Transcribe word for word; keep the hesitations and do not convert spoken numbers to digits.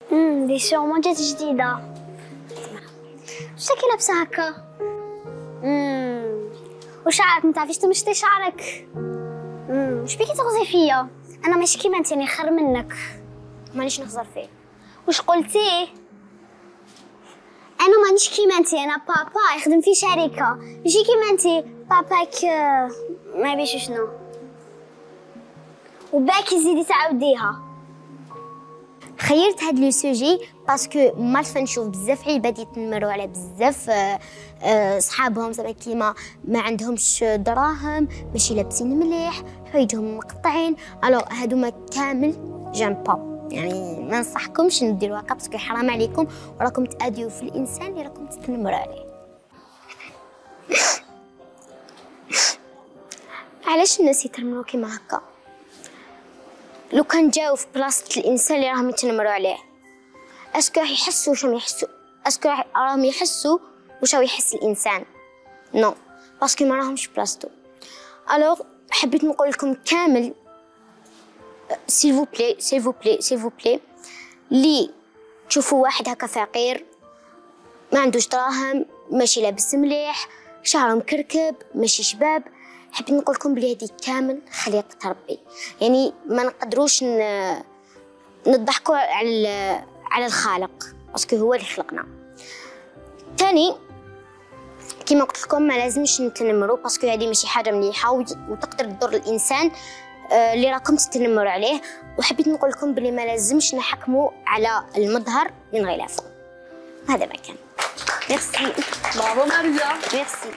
امم دي سيغمون جات جديدة. واش راكي لابسة هكا؟ امم وشعرك متعرفيش تمشطي شعرك؟ امم واش بيكي تغزي فيا؟ انا ماشي كيما انت، راني خير منك، مانيش نخزر فيه. واش قلتي؟ انا مانيش كيما انت، انا بابا يخدم في شركة، ماشي كيما انت باباك ما بيش شنو. وباكي زيدي تعاوديها. خيرت هاد لو سوجي باسكو مالفا نشوف بزاف عباد يتنمروا على بزاف صحابهم زعما كيما ما عندهمش دراهم، ماشي لابسين مليح، حوايجهم مقطعين. الوغ هادوما كامل جام با، يعني ما ننصحكمش نديروا هكا باسكو حرام عليكم وراكم تأذيو في الانسان اللي راكم تتنمروا عليه. علاش الناس يتنمروا كيما هكا؟ لو كان جاو في بلاصة الانسان اللي راهم يتنمروا عليه، اسكو راح يحسوا واش راهم يحسوا؟ اسكو راهم يحسوا واش راه يحس الانسان؟ نو، باسكو ما راهمش بلاصتو. الوغ حبيت نقول لكم كامل سيل فو بلي سيل فو بلي سيل فو بلي لي تشوفوا واحد هكا فقير ما عندوش دراهم، ماشي لابس مليح، شعره مكركب، ماشي شباب، حبيت نقول لكم بلي هذه كامل خليقة ربي. يعني ما نقدروش نضحكوا على على الخالق باسكو هو اللي خلقنا. ثاني كما قلت لكم ما لازمش نتنمروا باسكو هذه ماشي حاجه مليحه وتقدر تضر الانسان اللي راكم تتنمروا عليه. وحبيت نقول لكم بلي ما لازمش نحكموا على المظهر من غلافه. هذا ما كان. ميرسي. برافو ماريا. ميرسي.